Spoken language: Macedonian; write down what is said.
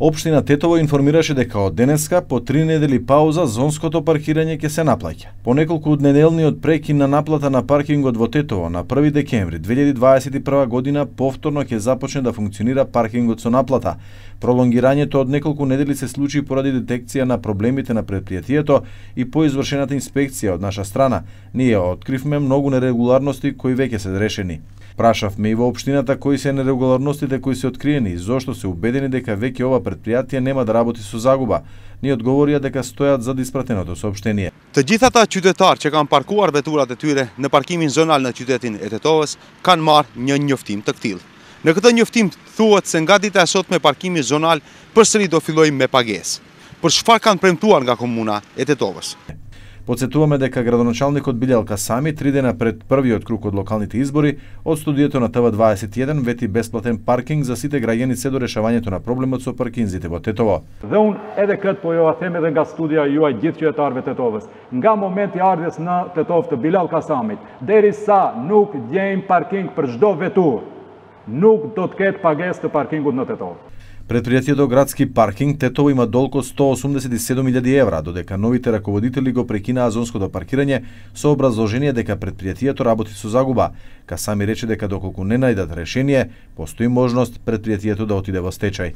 Општина Тетово информираше дека од денеска по 3 недели пауза зонското паркирање ќе се наплаќа. По неколку неделниот прекин на наплата на паркингот во Тетово на 1 декември 2021 година повторно ќе започне да функционира паркингот со наплата. Пролонгирањето од неколку недели се случи поради детекција на проблемите на предпријатието и по извршената инспекција од наша страна. Ние откривме многу нерегуларности кои веќе се решени. Прашавме и во општината кои се нерегуларностите кои се откриени и зошто се убедени дека веќе ова предпријатие нема да работи со загуба. Ни одговорија дека стојат за испратеното соопштение. Të gjithë ata qytetarë që kanë parkuar veturat e tyre në parkimin zonal në qytetin e Tetovës kanë marrë një njoftim të këtillë. Në këtë njoftim thuhet se nga dita e sotme parkimi zonal përsëri do fillojë me pagesë. Për çfarë kanë premtuar nga komuna e Tetovës? Подсетуваме дека градоначалникот Билјал Касами 3 дена пред првиот круг од локалните избори од студиото на ТВ21 вети бесплатен паркинг за сите граѓани се до решавањето на проблемот со паркинзите во Тетово. Dhe unë edhe këtë po ju them edhe nga studia juaj gjithë qytetarëve të Tetovës. Nga momenti i ardhjes në Tetovë të Bilal Kasamit, derisa nuk gjejmë parking për çdo veturë, nuk do të ketë pagesë të parkingut në Tetovë. Предпријатието Градски паркинг Тетово има долг од 187.000 евра, додека новите раководители го прекинаа зонското паркирање со образложение дека предпријатието работи со загуба. Касами рече дека доколку не најдат решение, постои можност предпријатието да отиде во стечај.